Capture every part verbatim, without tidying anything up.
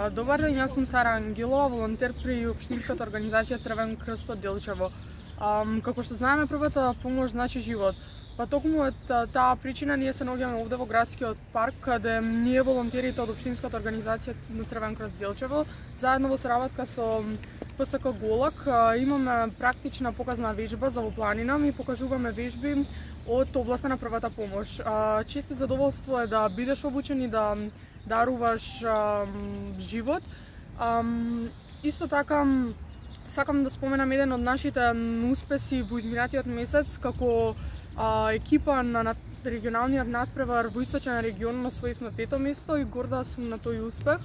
Добар ден, јас сум Сара Ангелова, волонтер при Општинската организација Црвен крст од Делчево. Како што знаеме, првата помош значи живот. Па токму од таа причина ние се наоѓаме овде во градскиот парк, каде ние волонтерите од Општинската организација на Црвен крст Делчево, заедно во соработка со П С К Голак, имаме практична показна вежба за во планина и покажуваме вежби од областа на првата помош. Често задоволство е да бидеш обучен и да даруваш а, живот. А, исто така, сакам да споменам еден од нашите успеси во изминатиот месец, како а, екипа на, на регионалниот надпревар во Источен регион освоивме пето место и горда сум на тој успех.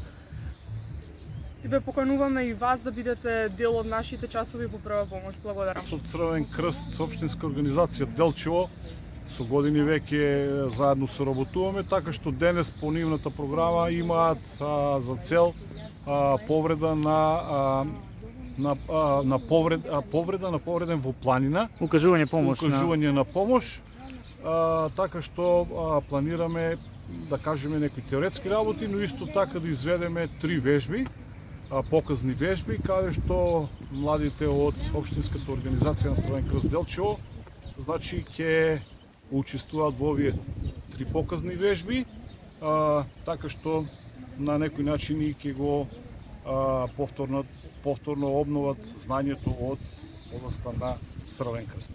И ве покануваме и вас да бидете дел од нашите часови по прва помош. Благодарам. Со Црвен крст, Општинска организација Делчево, со години веќе заедно соработуваме, така што денес по нивната програма имаат а, за цел а, повреда на а, на а, на повред, а, повреда на повреден во планина, укажување помош, укажување на, на помош, а, така што а, планираме да кажеме некои теоретски работи, но исто така да изведеме три вежби, а, показни вежби, каде што младите од Општинската организација на Црвен крст Делчево, значи ќе учествуваат во овие три показни вежби, а, така што на некој начин и ќе го а, повторно, повторно обноват знањето од областа на Црвен крст.